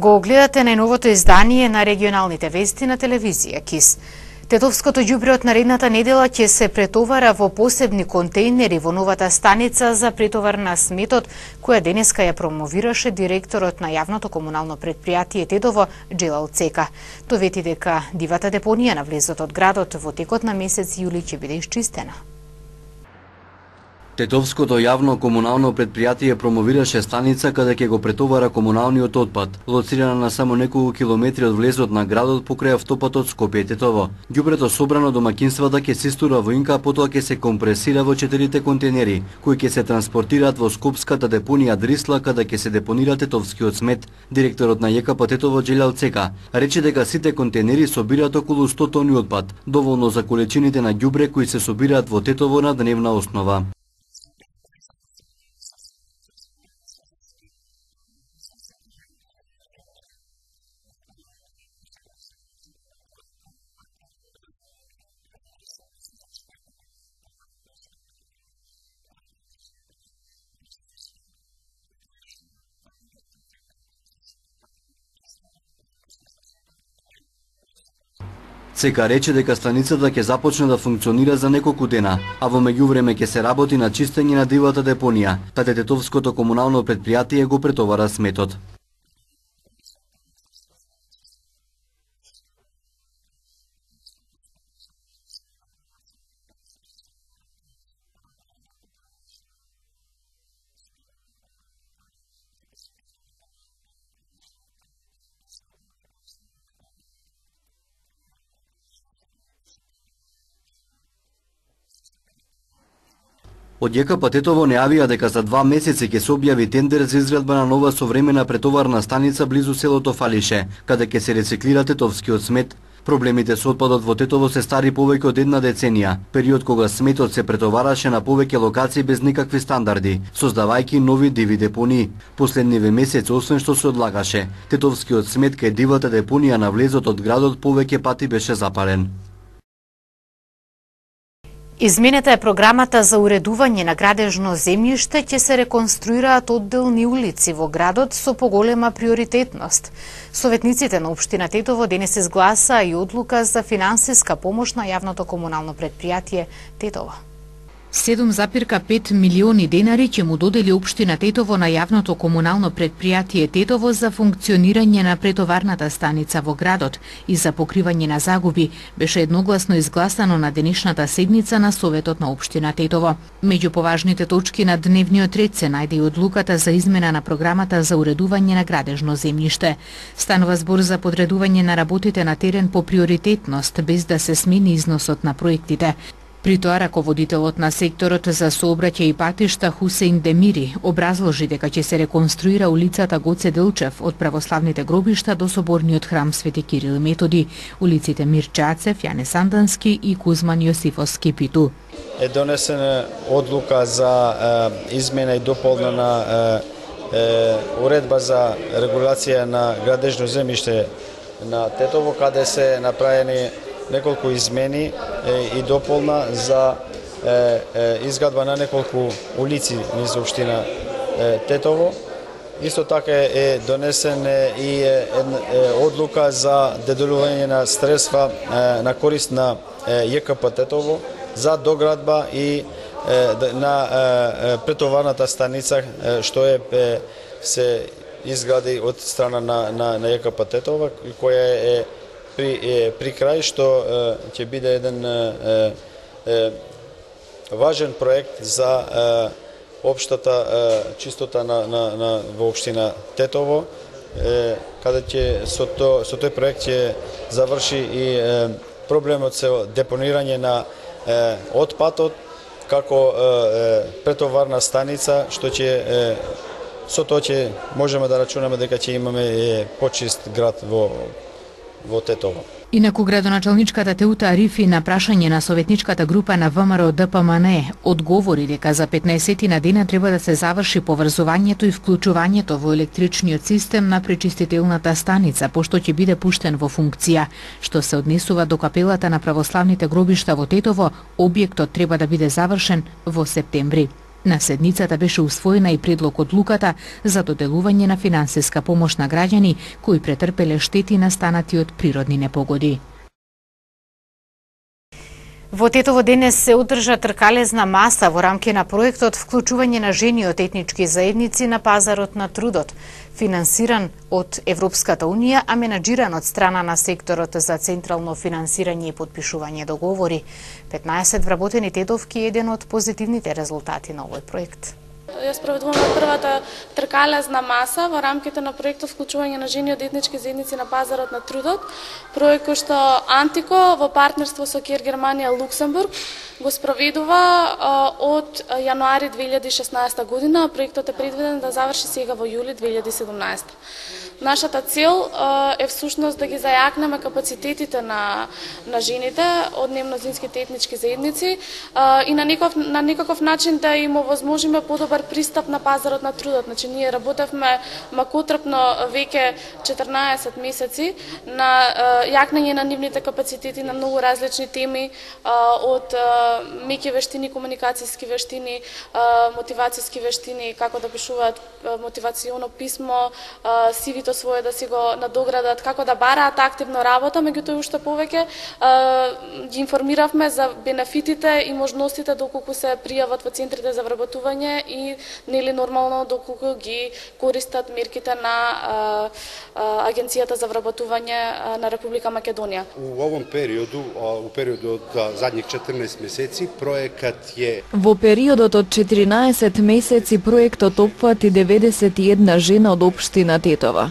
Го гледате најновото издание на регионалните вести на телевизија КИС. Тетовското ѓубре од наредната недела ќе се претовара во посебни контејнери во новата станица за претовар на сметот, која денеска ја промовираше директорот на јавното комунално предпријатие Тетово Джелал Цека. Тој вети дека дивата депонија на влезот од градот во текот на месец јули ќе биде исчистена. Тетовското јавно комунално предпријатие промовираше станица каде ќе го претовара комуналниот отпад, лоцирана на само неколку километри од влезот на градот покрај автопатот Скопје-Тетово. Ѓубрето собрано домаќинствата ќе се истура во инка, потоа ќе се компресира во 4 контейнери, кои ќе се транспортираат во скопската депонија Дрисла, каде ќе се депонира тетовскиот смет. Директорот на ЈКП Тетово Джелал Цека рече дека сите контейнери собираат околу 100 тони отпад, доволно за количините на ѓубре кои се собираат во Тетово на дневна основа. Цека рече дека станицата ќе започне да функционира за неколку дена, а во меѓувреме ќе се работи на чистење на дивата депонија, каде Тетовското комунално предпријатие го претовара сметот. Од ЈКП Тетово не јавија дека за 2 месеци ќе се објави тендер за изградба на нова современа претоварна станица близу селото Фалише, каде ќе се рециклира тетовскиот смет. Проблемите со отпадот во Тетово се стари повеќе од 1 деценија, период кога сметот се претовараше на повеќе локации без никакви стандарди, создавајќи нови диви депонии. Последниве месеци, освен што се одлагаше, тетовскиот смет кај дивата депонија на влезот од градот повеќе пати беше запален. Изменета е програмата за уредување на градежно земјиште, ќе се реконструираат одделни улици во градот со поголема приоритетност. Советниците на општина Тетово денес изгласаа и одлука за финансиска помош на јавното комунално предпријатие Тетово. 7,5 милиони денари ќе му додели општина Тетово на јавното комунално предпријатие Тетово за функционирање на претоварната станица во градот и за покривање на загуби, беше едногласно изгласано на денешната седница на Советот на општина Тетово. Меѓу поважните точки на дневниот ред се најде и одлуката за измена на програмата за уредување на градежно земјиште. Станува збор за подредување на работите на терен по приоритетност, без да се смени износот на проектите. При тоа раководителот на секторот за сообраќај и патишта Хусеин Демири образложи дека ќе се реконструира улицата Гоце Делчев од православните гробишта до соборниот храм Свети Кирил и Методи, улиците Мир Чацев, Јане Сандански и Кузман Јосифовски Питу. Е донесена одлука за измена и дополнена уредба за регулација на градежно земјиште на Тетово, каде се направени неколку измени и дополна за изградба на неколку улици низ општина Тетово. Исто така е донесен и одлука за доделување на средства на корист на ЈКП Тетово за доградба и на претоварната станица што се изгради од страна на ЈКП Тетово, која е при крај, што ќе биде еден важен проект за општата чистота во општина Тетово, каде ќе со тој проект ќе заврши и проблемот со депонирање на отпадот како претоварна станица, што ќе со тоа ќе можеме да рачунаме дека ќе имаме почист град во Тетово. Инаку градоначалничката Теута Арифи на прашање на советничката група на ВМРО ДПМН одговори дека за 15 на дена треба да се заврши поврзувањето и вклучувањето во електричниот систем на пречистителната станица, пошто ќе биде пуштен во функција. Што се однесува до капелата на православните гробишта во Тетово, објектот треба да биде завршен во септември. На седницата беше усвоена и предлог одлуката за доделување на финансиска помош на граѓани кои претрпеле штети настанати од природни непогоди. Во Тетово денес се одржа тркалезна маса во рамки на проектот вклучување на жени од етнички заедници на пазарот на трудот, финансиран од Европската Унија, а менаџиран од страна на секторот за централно финансирање и подпишување договори. 15 вработени тетовки е еден од позитивните резултати на овој проект. Ја спроведуваме првата тркалезна маса во рамките на проектот вклучување на жени од етнички заедници на пазарот на трудот, проект кој што Антико во партнерство со Кер Германија Луксембург го спроведува од јануари 2016 година. Проектот е предвиден да заврши сега во јули 2017. Нашата цел е всушност да ги зајакнеме капацитетите на жените од немнозинските етнички заедници и на некаков начин да им овозможиме подобар пристап на пазарот на трудот. Значи, ние работевме макотрпно веќе 14 месеци на јакнење на нивните капацитети на многу различни теми, од меки вештини, комуникацијски вештини, мотивацијски вештини, како да пишуваат мотивационо писмо, CV-то свое да си го надоградат, како да бараат активно работа, меѓутоа уште повеќе ги информиравме за бенефитите и можностите доколку се пријават во центрите за вработување и нели нормално доколку ги користат мерките на Агенцијата за вработување на Република Македонија. У овом периоду, од задних 14 месеци, проектот е... Во периодот од 14 месеци проектот опфати 91 жена од општина Тетова.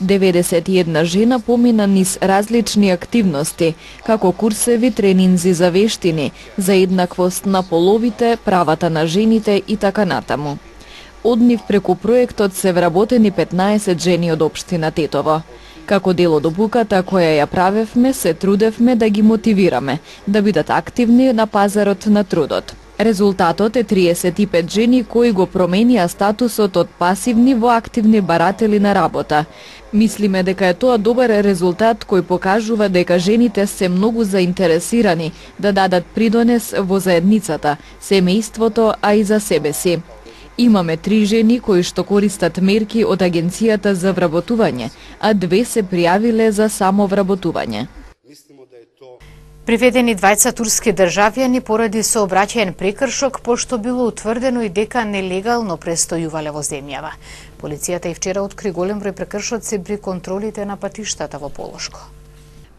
91 жена помина низ различни активности, како курсеви, тренинзи за вештини, за еднаквост на половите, правата на жените и така натаму. Од нив преку проектот се вработени 15 жени од општина Тетово. Како дел од обуката која ја правевме, се трудевме да ги мотивираме, да бидат активни на пазарот на трудот. Резултатот е 35 жени кои го променија статусот од пасивни во активни баратели на работа. Мислиме дека е тоа добар резултат кој покажува дека жените се многу заинтересирани да дадат придонес во заедницата, семејството, а и за себе си. Имаме 3 жени кои што користат мерки од Агенцијата за вработување, а 2 се пријавиле за самовработување. Приведени двајца турски државјани поради сообраќаен прекршок, пошто било утврдено и дека нелегално престојувале во земјава. Полицијата и вчера откри голем број прекршоци при контролите на патиштата во Полошко.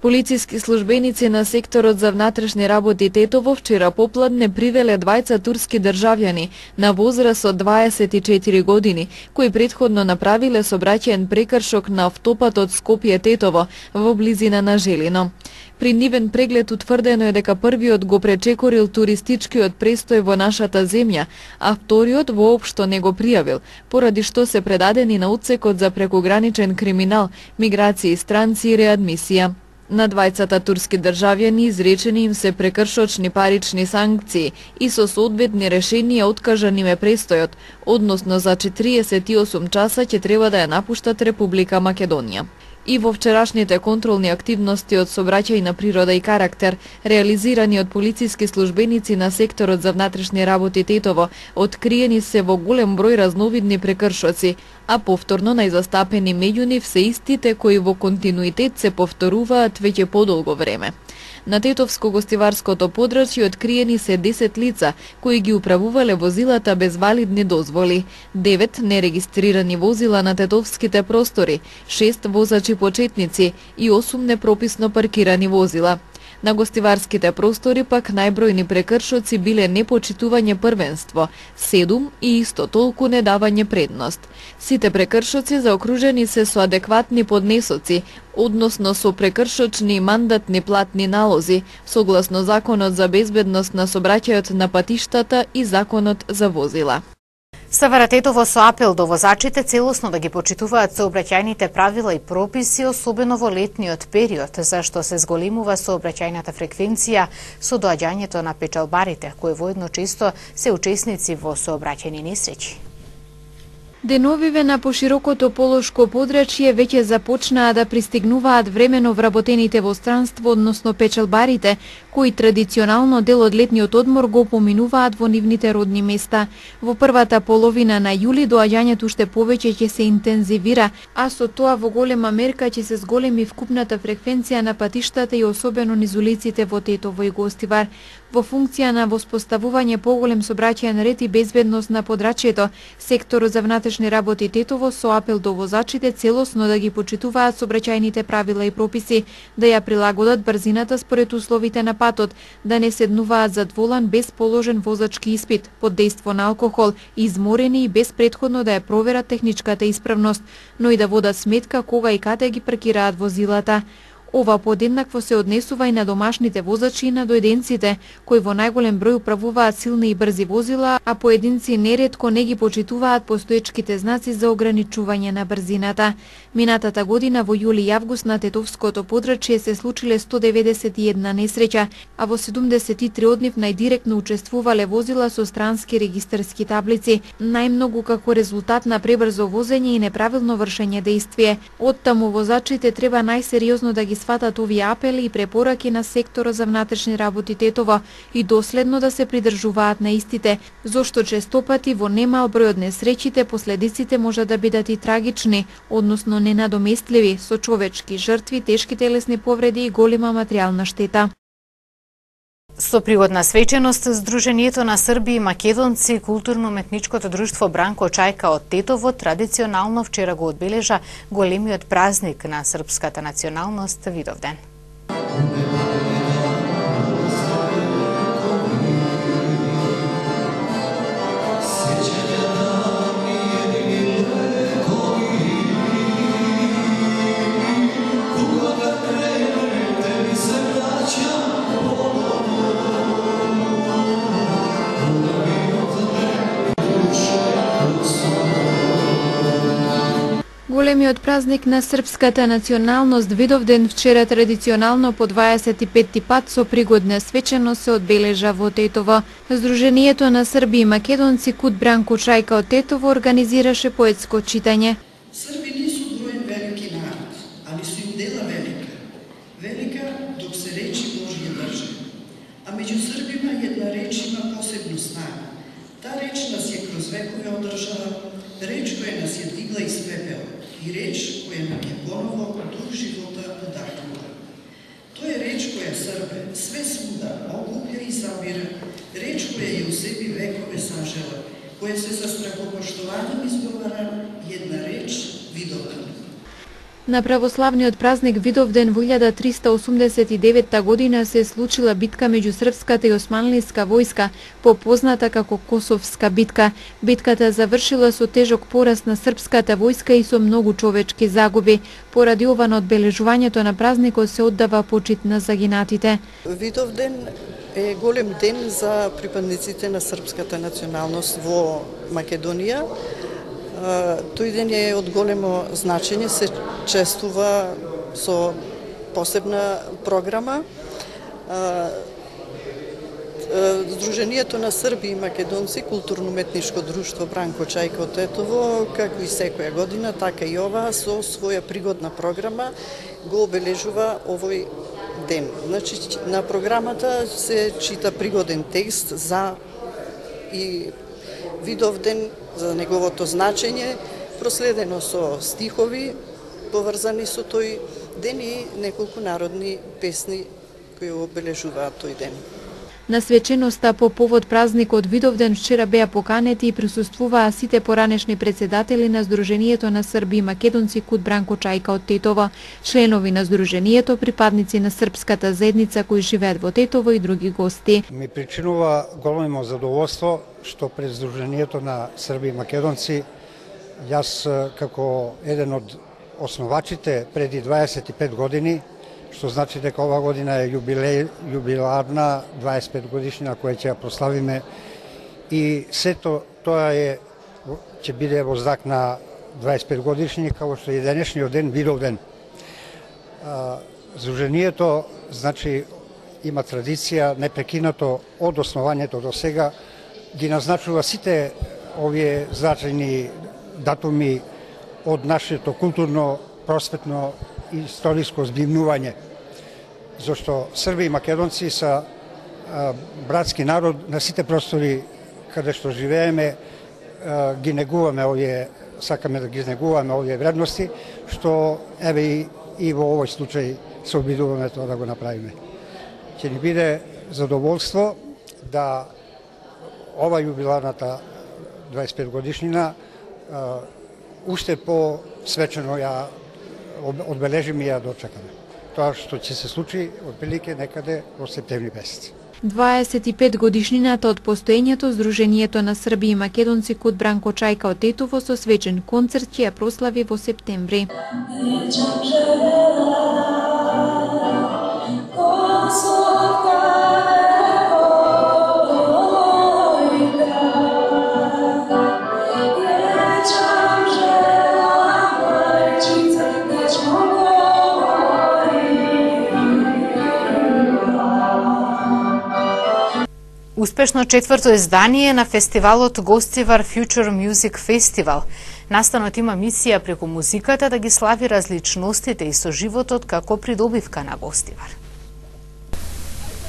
Полициски службеници на секторот за внатрешни работи Тетово вчера попладне привеле двајца турски државјани на возраст од 24 години, кои претходно направиле сообраќаен прекршок на автопатот Скопје-Тетово во близина на Желино. При нивен преглед утврдено е дека првиот го пречекорил туристичкиот престој во нашата земја, а вториот воопшто не го пријавил, поради што се предадени на отсекот за прекограничен криминал, миграција, странци и реадмисија. На двајцата турски државјани изречени им се прекршочни парични санкции и со соодветни решенија откажан им е престојот, односно за 48 часа ќе треба да ја напуштат Република Македонија. И во вчерашните контролни активности од сообраќајна природа и карактер, реализирани од полициски службеници на секторот за внатрешни работи Тетово, откриени се во голем број разновидни прекршоци, а повторно најзастапени меѓу нив се истите кои во континуитет се повторуваат веќе подолго време. На Тетовско-гостиварското подрачје откриени се 10 лица кои ги управувале возилата без валидни дозволи, 9 нерегистрирани возила на тетовските простори, 6 возачи почетници и 8 непрописно паркирани возила. На гостиварските простори пак најбројни прекршоци биле непочитување првенство, 7 и исто толку недавање предност. Сите прекршоци заокружени се со адекватни поднесоци, односно со прекршочни и мандатни платни налози, согласно Законот за безбедност на сообраќајот на патиштата и Законот за возила. СВР Тетово со апел до возачите целосно да ги почитуваат сообраќајните правила и прописи, особено во летниот период, зашто се зголемува сообраќајната фреквенција со доаѓањето на печалбарите, кои воедно често се учесници во сообраќајни несреќи. Деновиве на поширокото полошко подрачје веќе започнаа да пристигнуваат времено вработените во странство, односно печалбарите, кои традиционално дел од летниот одмор го поминуваат во нивните родни места. Во првата половина на јули доаѓањето уште повеќе ќе се интензивира, а со тоа во голема мерка ќе се зголеми вкупната фреквенција на патиштата и особено низ улиците во Тетово и Гостивар. Во функција на воспоставување поголем сообраќајен ред и безбедност на подрачјето, секторот за внатрешни работи Тетово со апел до возачите целосно да ги почитуваат сообраќајните правила и прописи, да ја прилагодат брзината според условите на патот, да не седнуваат зад волан без положен возачки испит, под дејство на алкохол, изморени и без претходно да ја проверат техничката исправност, но и да водат сметка кога и каде ги паркираат возилата. Ова подеднакво се однесува и на домашните возачи и на дојденците, кои во најголем број управуваат силни и брзи возила, а поединци неретко не ги почитуваат постоечките знаци за ограничување на брзината. Минатата година во јули и август на Тетовското подрачје се случиле 191 несреќа, а во 73 од нив најдиректно учествувале возила со странски регистарски таблици, најмногу како резултат на пребрзо возење и неправилно вршење дејствие. Оттаму возачите треба најсериозно да ги сватат овие апели и препораки на секторот за внатрешни работи Тетово и доследно да се придржуваат на истите, зошто честопати во немал број од несреќите последиците можат да бидат и трагични, односно ненадоместливи, со човечки жртви, тешки телесни повреди и голема материјална штета. Со пригодна свеченост, Сдруженијето на Срби и македонци, културно-уметничкото друштво Бранко Чајка од Тетово традиционално вчера го одбележа големиот празник на српската националност Видовден. Големиот празник на српската националност Видовден вчера традиционално по 25-ти пат со пригодна свеченост се одбележа во Тетово. Сдруженијето на Срби и македонци Кут Бранко Чајка од Тетово организираше поетско читање. Срби не су броен велики народ, али су им дела велика. Велика док се речи Божја држа. А меѓу Србима една реч има посебну снага. Та реч нас е кроз векове одржала, реч која нас е дигла из пепел и реч која нам е поново дух живота удахнува. Тоа е реч која Србе све свуда окупја и забира, реч која е у себе векове сажела, која се со страхопоштување изговара, една реч Видовден. На православниот празник Видовден во 1389 година се случила битка меѓу српската и османлиска војска, попозната како Косовска битка. Битката завршила со тежок пораз на српската војска и со многу човечки загуби. Поради ова на одбележувањето на празникот се оддава почит на загинатите. Видовден е голем ден за припадниците на српската националност во Македонија. Тој ден е од големо значење, се чествува со посебна програма. Сдруженијето на Срби и македонци, културно-уметничко друштво Бранко Чајка од Тетово, како и секоја година, така и ова, со своја пригодна програма го обележува овој ден. Значи, на програмата се чита пригоден текст за и Видовден, за неговото значење, проследено со стихови поврзани со тој ден и неколку народни песни кои обележуваат тој ден. На свеченоста по повод празникот Видовден вчера беа поканети и присуствуваа сите поранешни председатели на Сдруженијето на Срби и македонци Кут Бранко Чајка од Тетово, членови на Сдруженијето, припадници на српската заедница кои живеат во Тетово и други гости. Ми причинува големо задоволство што пред Сдруженијето на Срби и македонци јас како еден од основачите преди 25 години, што значи дека ова година е јубиларна 25 годишнина која ќе ја прославиме и сето тоа ќе биде во знак на 25 годишни, како што и денешниот ден Видовден. Сдруженијето значи има традиција непрекинато од основањето до сега ги назначува сите овие значајни датуми од нашето културно, просветно и историско збивнување. зашто Срби и македонци са братски народ на сите простори каде што живееме, ги негуваме овие, сакаме да ги негуваме овие вредности, што еве и во овој случај се обидуваме тоа да го направиме. Ќе ни биде задоволство да ова јубиларната 25 годишнина уште по-свечено ја одбележиме и ја дочекаме. Тоа што ќе се случи отприлике некаде во септември месец. 25 годишнината од постоењето Сдруженијето на Срби и македонци код Бранко Чајка од Тетово со свечен концерт ќе ја прослави во септември. Успешно четврто издание на фестивалот Гостивар Future Music Festival. Настанот има мисија преку музиката да ги слави различностите и соживотот како придобивка на Гостивар.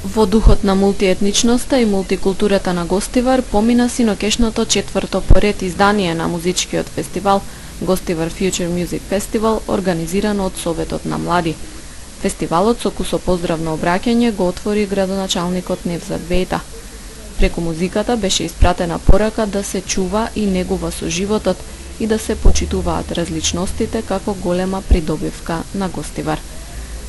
Во духот на мултиетничноста и мултикултурата на Гостивар помина синокешното четврто поред издание на музичкиот фестивал Гостивар Future Music Festival, организирано од Советот на млади. Фестивалот со кусопоздравно обраќање го отвори градоначалникот Невзат Бејта. Преку музиката беше испратена порака да се чува и негува соживотот и да се почитуваат различностите како голема придобивка на Гостивар.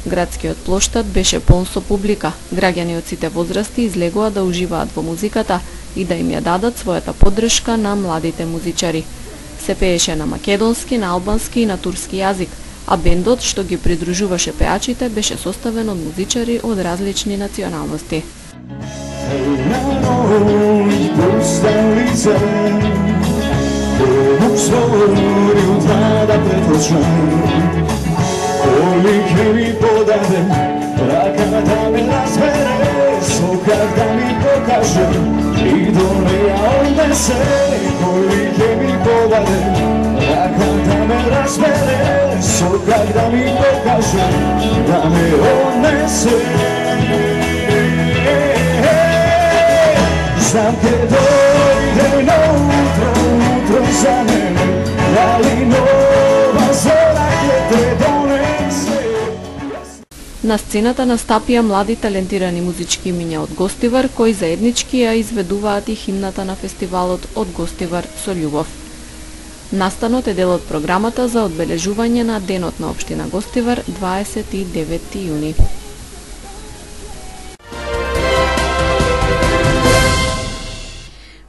Градскиот плоштад беше полн со публика. Граѓани од сите возрасти излегоа да уживаат во музиката и да им ја дадат својата поддршка на младите музичари. Се пееше на македонски, на албански и на турски јазик, а бендот што ги придружуваше пеачите беше составен од музичари од различни националности. Колike mi podade, раката ми разбере, сокак да ми покаже и до неја однесе. Колike mi podade, раката ме разбере, сокак да ми покаже, да ме однесе. Знам ке дојде наутро, утро за мене, дали нова зора ке те донесе. На сцената настапија млади талентирани музички имиња од Гостивар, кои заеднички ја изведуваат и химната на фестивалот од Гостивар со љубов. Настанот е дел од програмата за одбележување на Денот на општина Гостивар 29 јуни.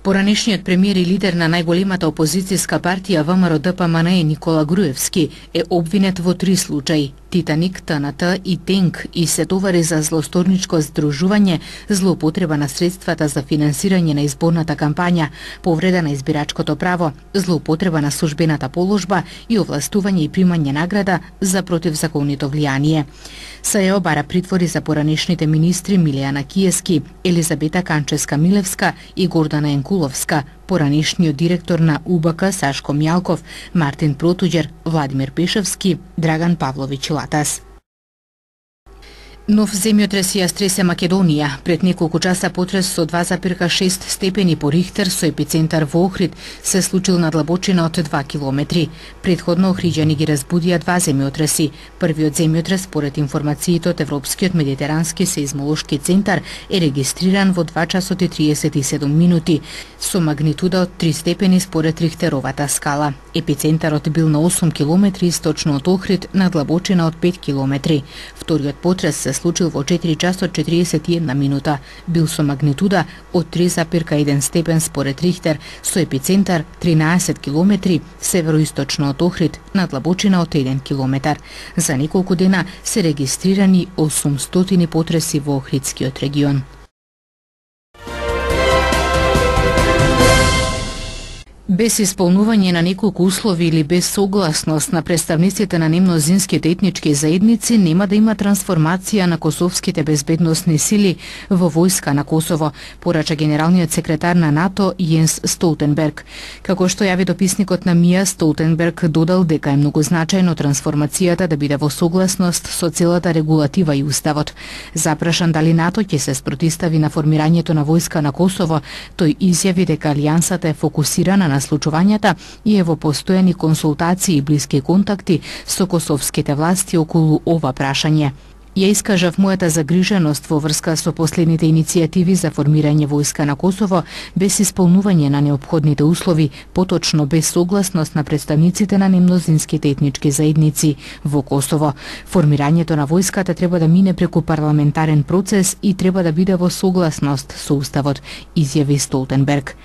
Поранешниот премиер и лидер на најголемата опозицијска партија ВМРО-ДПМНЕ Никола Груевски е обвинет во 3 случаи: Титаник, ТНТ и Тенк, и се товари за злосторничко здружување, злоупотреба на средствата за финансирање на изборната кампања, повреда на избирачкото право, злоупотреба на службената положба и овластување и примање награда за противзаконито влијание. Се ја обара притвори за поранешните министри Милијана Киески, Елизабета Канческа-Милевска и Гордана Енкуловска, поранешниот директор на УБК Сашко Мјалков, Мартин Протуѓер, Владимир Пешевски, Драган Павловиќ Латас. Нов земјотрес ја стресе Македонија. Пред неколку часа потрес со 2,6 степени по Рихтер со епицентар во Охрид се случил на длабочина од 2 километри. Предходно охриѓани ги разбудија 2 земјотреси. Првиот земјотрес, според информациите од Европскиот медитерански сеизмолошки центар, е регистриран во 2 часот и 37 минути, со магнитуда од 3 степени според Рихтеровата скала. Епицентарот бил на 8 километри источно од Охрид, на длабочина од 5 километри. Вториот потрес се случил во 4 часот 41 минута. Бил со магнитуда од 3,1 степен според Рихтер, со епицентар 13 километри североисточно од Охрид, на длабочина од 1 километар. За неколку дена се регистрирани 800 потреси во Охридскиот регион. Без исполнување на неколку услови или без согласност на представниците на немнозинските етнички заедници нема да има трансформација на косовските безбедносни сили во војска на Косово, порача генералниот секретар на НАТО Јенс Столтенберг. Како што јави дописникот на МИА, Столтенберг додал дека е многу значајно трансформацијата да биде во согласност со целата регулатива и уставот. Запрашан дали НАТО ќе се спротистави на формирањето на војска на Косово, тој изјави дека алијансата е фокусирана на случувањата и е во постојани консултации и блиски контакти со косовските власти околу ова прашање. Ја искажав мојата загриженост во врска со последните иницијативи за формирање војска на Косово без исполнување на неопходните услови, поточно без согласност на представниците на немнозинските етнички заедници во Косово. Формирањето на војската треба да мине преку парламентарен процес и треба да биде во согласност со уставот, изјави Столтенберг.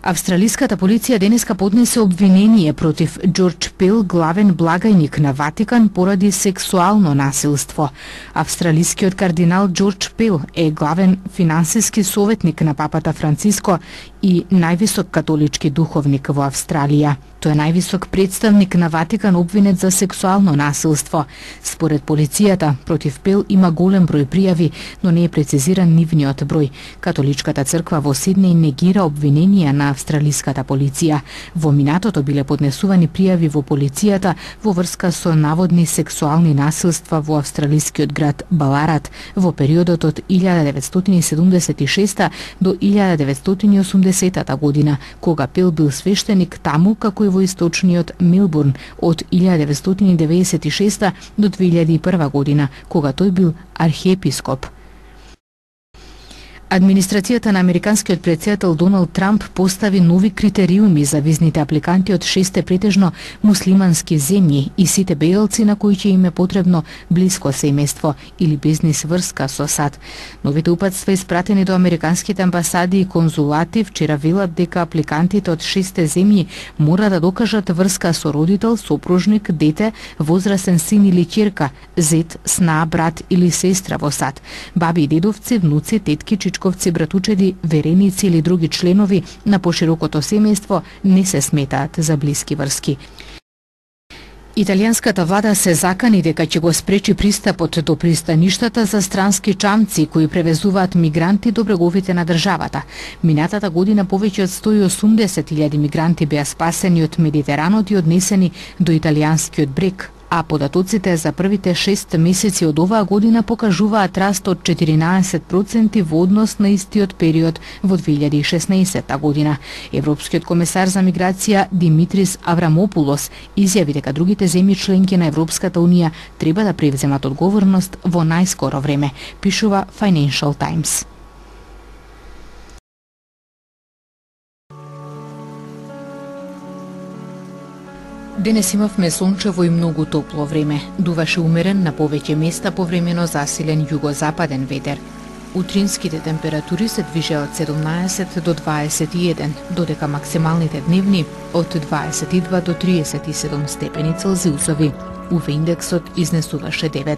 Австралиската полиција денеска поднесе обвинение против Џорџ Пел, главен благајник на Ватикан, поради сексуално насилство. Австралискиот кардинал Џорџ Пел е главен финансиски советник на папата Франциско и највисок католички духовник во Австралија. Тој е највисок представник на Ватикан обвинет за сексуално насилство. Според полицијата, против Пел има голем број пријави, но не е прецизиран нивниот број. Католичката црква во Сиднеј негира обвиненија на австралиската полиција. Во минатото биле поднесувани пријави во полицијата во врска со наводни сексуални насилства во австралискиот град Баларат во периодот од 1976 до 1980 година, кога Пел бил свештеник таму како и во источниот Мелбурн од 1996 до 2001 година, кога тој бил архиепископ. Администрацијата на американскиот претседател Доналд Трамп постави нови критериуми за визните апликанти од 6 претежно муслимански земји и сите бејалци на кои ќе им е потребно блиско семејство или бизнис врска со САД. Новите упатства испратени до американските амбасади и конзулати вчера велат дека апликантите од 6 земји мора да докажат врска со родител, сопружник, дете, возрасен син или ќерка, зет, сна, брат или сестра во САД, баби и дедовци, внуци, тетки, чичковци, братучеди, вереници или други членови на поширокото семејство не се сметаат за блиски врски. Италијанската влада се закани дека ќе го спречи пристапот до пристаништата за странски чамци кои превезуваат мигранти до бреговите на државата. Минатата година повеќе од 180.000 мигранти беа спасени од Медитеранот и однесени до италијанскиот брег, а податоците за првите 6 месеци од оваа година покажуваат раст од 14% во однос на истиот период во 2016 година. Европскиот комесар за миграција Димитрис Аврамопулос изјави дека другите земји членки на Европската унија треба да превземат одговорност во најскоро време, пишува Financial Times. Денес имавме сончево и многу топло време. Дуваше умерен на повеќе места повремено засилен југозападен ветер. Утринските температури се движеа од 17 до 21, додека максималните дневни од 22 до 37 степени Целзиусови. УВ индексот изнесуваше 9.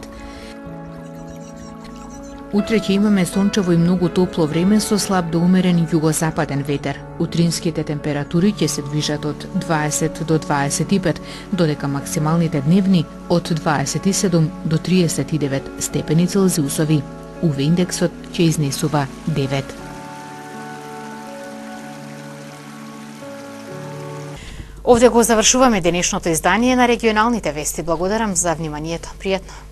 Утре ќе имаме сончево и многу топло време со слаб до умерен југозападен ветер. Утринските температури ќе се движат од 20 до 25, додека максималните дневни од 27 до 39 степени Целзиусови. УВ индексот ќе изнесува 9. Овде го завршуваме денешното издание на регионалните вести. Благодарам за вниманието. Пријатно.